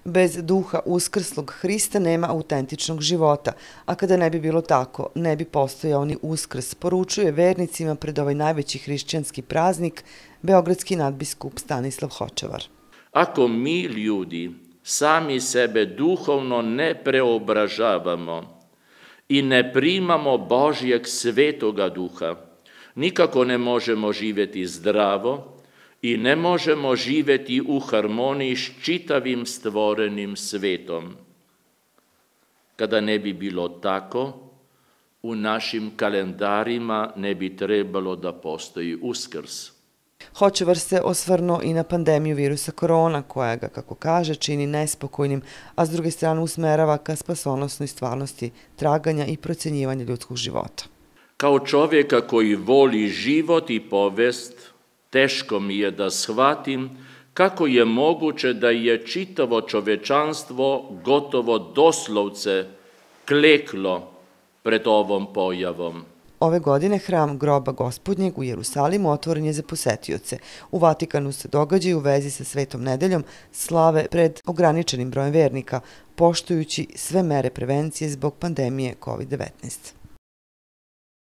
Bez duha uskrslog Hrista nema autentičnog života, a kada ne bi bilo tako, ne bi postojao ni Uskrs, poručuje vernicima pred ovaj najveći hrišćanski praznik beogradski nadbiskup Stanislav Hočevar. Ako mi ljudi sami sebe duhovno ne preobražavamo i ne primamo Božjeg svetoga duha, nikako ne možemo živjeti zdravo i ne možemo živjeti u harmoniji s čitavim stvorenim svetom. Kada ne bi bilo tako, u našim kalendarima ne bi trebalo da postoji Uskrs. Hočevar se osvrnuo i na pandemiju virusa korona, koja ga, kako kaže, čini nespokojnim, a s druge strane usmerava ka spasonosnoj stvarnosti traganja i procjenjivanja ljudskog života. Kao čovjeka koji voli život i povest, teško mi je da shvatim kako je moguće da je čitavo čovečanstvo gotovo doslovce kleklo pred ovom pojavom. Ove godine hram Groba Gospodnjeg u Jerusalimu otvoren je za posetioce. U Vatikanu se događaju u vezi sa Svetom nedeljom slave pred ograničenim brojem vernika, poštujući sve mere prevencije zbog pandemije COVID-19.